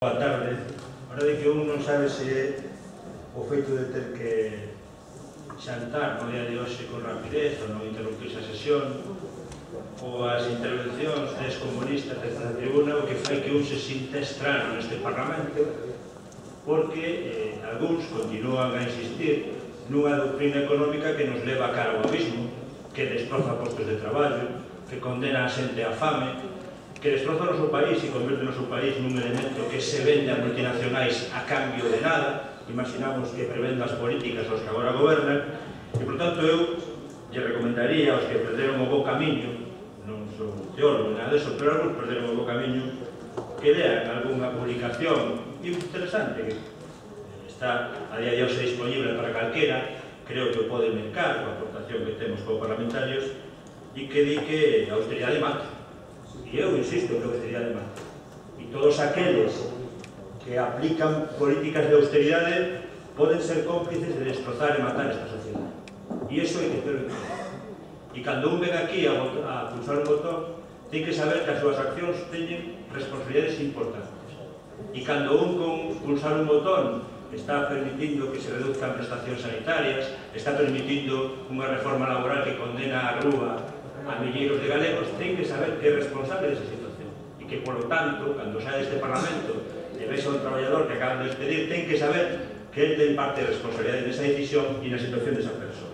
Boa tarde. Ahora de que un non sabe se é o feito de ter que xantar no día de hoxe con rapidez ou non interrumpir a sesión ou as intervencións des comunistas desde a tribuna o que fai que un se sinta estrano neste Parlamento porque algúns continúan a insistir nunha doutrina económica que nos leva a cara ao abismo, que destroza postos de traballo, que condena a xente á fame, que destroza o noso país e converte o noso país nun elemento que se vende a multinacionais a cambio de nada. Imaginamos que prevenda as políticas aos que agora gobernan e, por tanto, eu lle recomendaría aos que perderon o bo camiño, non son teólogo, nada deso, pero algúns perderon o bo camiño, que lean algunha publicación interesante que está a día de hoxe disponible para calquera, creo que o pode mercar coa aportación que temos como parlamentarios, e que di que a austeridade mata. E eu insisto que a austeridade mata. E todos aqueles que aplican políticas de austeridade poden ser cómplices de destrozar e matar esta sociedade. E iso hai que ter en conta. E cando un ven aquí a pulsar un botón, ten que saber que as súas accións teñen responsabilidades importantes. E cando un con pulsar un botón está permitindo que se reduzcan prestacións sanitarias, está permitindo unha reforma laboral que condena a rúa a milleiros de galegos, ten que saber que é responsable desa situación e que, por lo tanto, cando sae deste Parlamento e vexa un traballador que acaban de despedir, ten que saber que ele ten parte de responsabilidade nesa decisión e na situación desa persoa.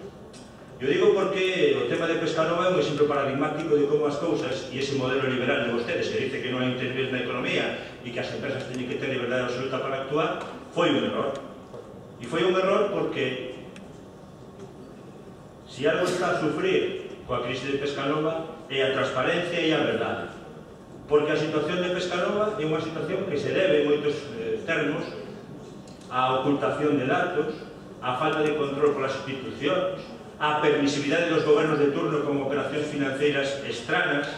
Eu digo porque o tema de Pescanova é un exemplo paradigmático de como as cousas e ese modelo liberal de vostedes que dice que non hai intervir na economía e que as empresas teñen que ter liberdade absoluta para actuar, foi un error. E foi un error porque se algo está a sufrir coa crise de Pescanova é a transparencia e a verdade, porque a situación de Pescanova é unha situación que se debe en moitos termos á ocultación de datos, á falta de control polas institucións, á permisividade dos gobernos de turno con operacións financeiras estranas.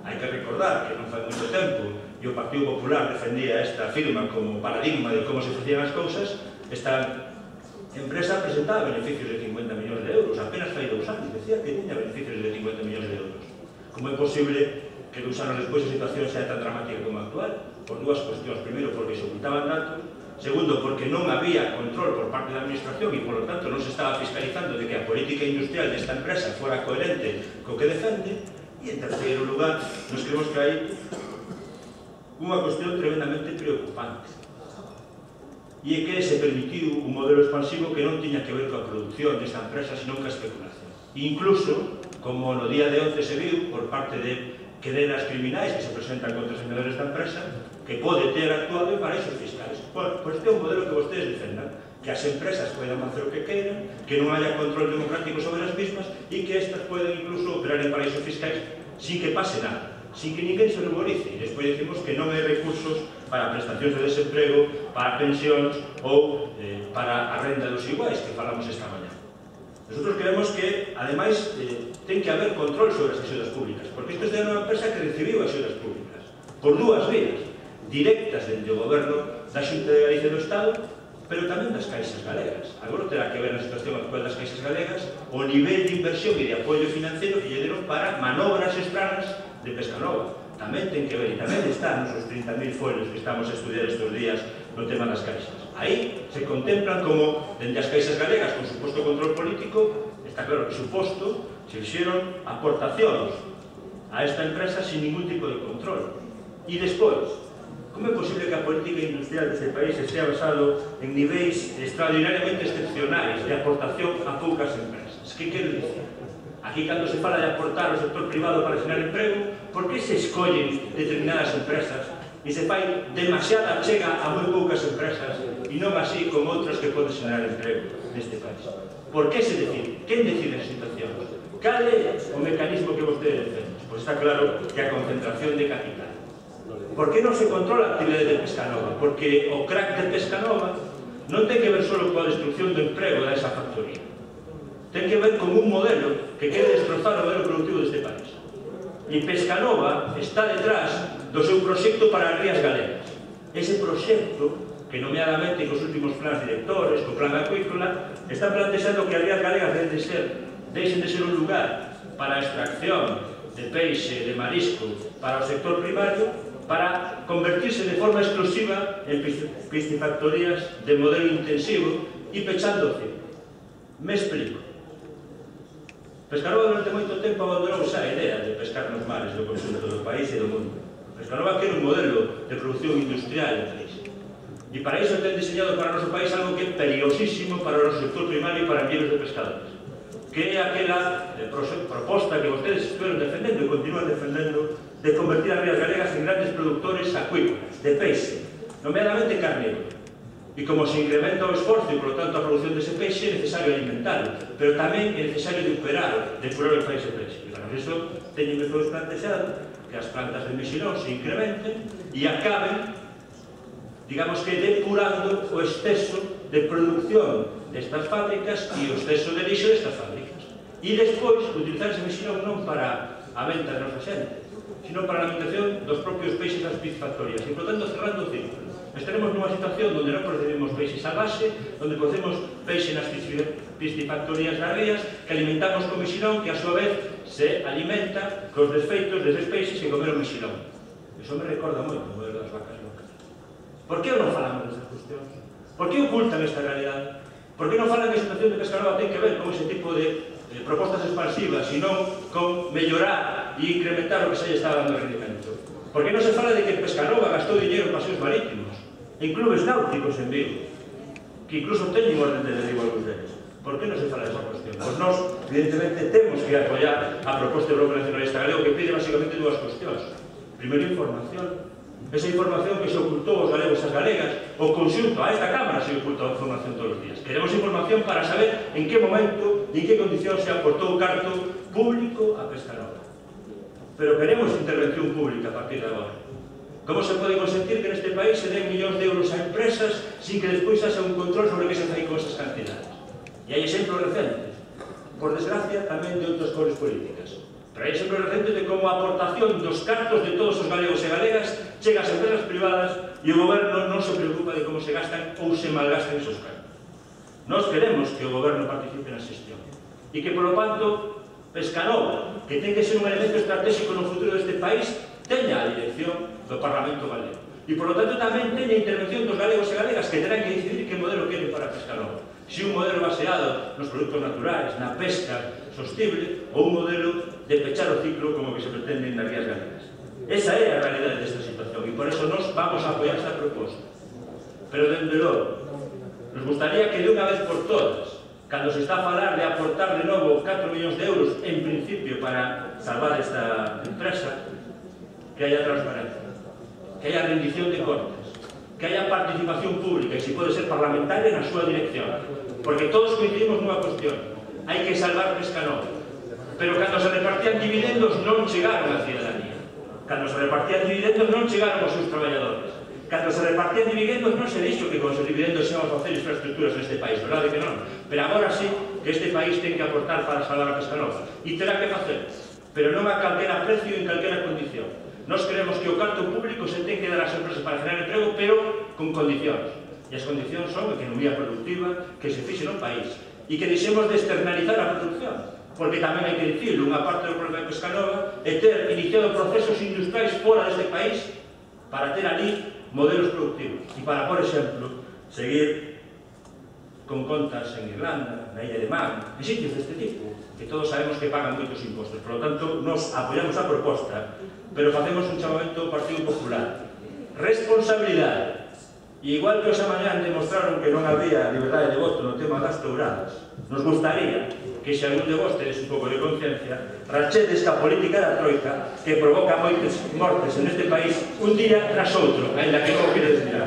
Hai que recordar que non fai moito tempo e o Partido Popular defendía esta firma como paradigma de como se facían as cousas. Esta empresa presentaba beneficios de 50 millóns de euros, apenas fai 2 anos, decía que tiña beneficios de 50 millóns de euros. Como é posible que 2 anos despois a situación sea tan dramática como actual? Por dúas cuestións. Primeiro, porque se ocultaban datos. Segundo, porque non había control por parte da administración e, por lo tanto, non se estaba fiscalizando de que a política industrial desta empresa fora coherente co que defende. E, en terceiro lugar, nos creemos que hai unha cuestión tremendamente preocupante. E é que se permitiu un modelo expansivo que non tiña que ver coa produción desta empresa, senón coa especulación. Incluso, como no día de onte se viu, por parte de querelas criminais que se presentan contra os senadores da empresa, que pode ter actuado en paraísos fiscais. Pois este é un modelo que vostedes defendan, que as empresas poden facer o que queiran, que non haya control democrático sobre as mismas e que estas poden incluso operar en paraísos fiscais sin que pase nada, sin que ninguén se ruborice. E despois decimos que non hai recursos para prestacións de desemprego, para pensións ou para a renda dos iguais, que falamos esta mañá. Nosotros creemos que, ademais, ten que haber control sobre as axudas públicas, porque isto é unha empresa que recibiu axudas públicas por dúas vías, directas dentro do goberno da Xunta de Galicia do Estado, pero tamén das caixas galegas. Agora terá que ver na situación actual das caixas galegas o nivel de inversión e de apoio financiero que lle deron para manobras estranas de Pescanova. Tamén ten que ver, e tamén está nos 30.000 folios que estamos a estudiar estes días no tema das caixas. Aí se contemplan como, dende as caixas galegas, con suposto control político, está claro que suposto, se fixeron aportacións a esta empresa sin ningún tipo de control. E despois, como é posible que a política industrial deste país estea basado en niveis extraordinariamente excepcionais de aportación a poucas empresas? Que quero dicir? Aquí, cando se fala de aportar ao sector privado para xerar emprego, por que se escollen determinadas empresas e se fai demasiada chega a moi poucas empresas e non así con outras que poden xerar emprego neste país? Por que se decide? Quen decide as situacións? Cal é o mecanismo que vostede defende? Pois está claro que a concentración de capital. Por que non se controla a actividade de Pescanova? Porque o crack de Pescanova non ten que ver só coa destrucción do emprego desa factoría. Ten que ver con un modelo que quere destrozar o modelo productivo deste país. E Pescanova está detrás do seu proxecto para as rías galegas. Ese proxecto, que nomeadamente cos últimos plans directores, co plan acuícola, está plantexando que as rías galegas deixen de ser un lugar para a extracción de peixe, de marisco, para o sector primario, para convertirse de forma exclusiva en piscifactorías de modelo intensivo e pechando o ciclo. Me explico. Pescanova durante moito tempo abandonou xa a idea de pescar nos mares do conxunto do país e do mundo. Pescanova quere un modelo de produción industrial en país. E para iso ten diseñado para o noso país algo que é perigosísimo para o noso sector primario e para millones de pescadores, que é aquela proposta que vostedes estiveron defendendo e continúan defendendo de convertir as rías galegas en grandes productores acuícolas, de peixe, nomeadamente carnívoro. E como se incrementa o esforzo e, por lo tanto, a produción dese peixe, é necesario alimentarlo, pero tamén é necesario depurar o país de peixe. E para iso teñen que todos plantexado que as plantas de mexilón se incrementen e acaben, digamos que depurando o exceso de producción destas fábricas e o exceso de lixo destas fábricas. E despois, utilizar ese mexilón non para a venta da nosa xente, sino para a alimentación dos propios peixes das piscifactorías. E, por tanto, cerrando o círculo. Estaremos nunha situación onde non procedemos peixe salvaxe, onde procedemos peixe nas piscifactorías das rías, que alimentamos con mexilón, que a súa vez se alimenta cos desfeitos deses peixes que comeron mexilón. Iso me recorda moito o modelo das vacas locas. Por que non falamos destas cuestións? Por que ocultan esta realidade? Por que non falan que a situación de Pescanova ten que ver con ese tipo de propostas expansivas, sino con mellorar e incrementar o que se lle está dando rendimento? Por que non se fala de que Pescanova gastou dinheiro en paseos marítimos, en clubes náuticos en Vigo, que incluso teñen orden de derribo algúns deles? Por que non se fala desa cuestión? Pois nós, evidentemente, temos que apoiar a proposta do Bloque Nacionalista Galego, que pide basicamente dúas cuestións. Primeiro, información. Esa información que se ocultou aos galegos e as galegas, o conxunto a esta Cámara se oculta a información todos os días. Queremos información para saber en que momento e en que condición se aportou o carto público a Pescanova. Pero queremos intervención pública a partir de agora. Como se pode consentir que neste país se den millóns de euros a empresas sin que despois haxa un control sobre que se fai con esas cantidades? E hai exemplos recentes, por desgracia, tamén de outras cores políticas. Pero hai exemplos recentes de como a aportación dos cartos de todos os galegos e galegas chega ás empresas privadas e o goberno non se preocupa de como se gastan ou se malgastan esos cartos. Nós queremos que o goberno participe na xestión e que, polo tanto, Pescanova, que ten que ser un elemento estratégico no futuro deste país, teña a dirección do Parlamento galego. E, por lo tanto, tamén teña a intervención dos galegos e galegas que terán que decidir que modelo queren para Pescanova. Se un modelo baseado nos produtos naturais, na pesca sostible, ou un modelo de pechar o ciclo como que se pretende nas rías galegas. Esa é a realidade desta situación e por eso nos vamos a apoiar esta proposta. Pero, dende logo, nos gustaría que de unha vez por todas, cando se está a falar de aportar de novo 4 millóns de euros en principio para salvar esta empresa, que haya transparencia, que haya rendición de contas, que haya participación pública e se pode ser parlamentaria na súa dirección, porque todos coincidimos nunha cuestión: hai que salvar Pescanova. Pero cando se repartían dividendos non chegaron á cidadanía, cando se repartían dividendos non chegaron aos seus traballadores, cando se repartían dividendos non se dixo que con os dividendos íamos a facer infraestructuras neste país, verdade que non? Pero agora sí que este país ten que aportar para salvar a Pescanova e terá que facer, pero non a calquera precio e en calquera condición. Nós queremos que o carto público se ten que dar ás empresas para generar emprego, pero con condicións. E as condicións son a economía productiva, que se fixe no país, e que deixemos de externalizar a producción. Porque tamén hai que dicirlo, unha parte do problema de Pescanova é ter iniciado procesos industriais fora deste país para ter ali modelos productivos. E para, por exemplo, seguir con contas en Irlanda, na Illa de Man, en sitios deste tipo, que todos sabemos que pagan moitos impostos. Por lo tanto, nos apoiamos a proposta, pero facemos un chamamento ao Partido Popular. Responsabilidade. E igual que esa mañá demostraron que non había liberdade de voto no tema das touradas, nos gustaría que se algún de vos tedes un pouco de conciencia, rachedes que a política da troika, que provoca moitas mortes en este país, un día tras outro, ainda que non queredes mirar.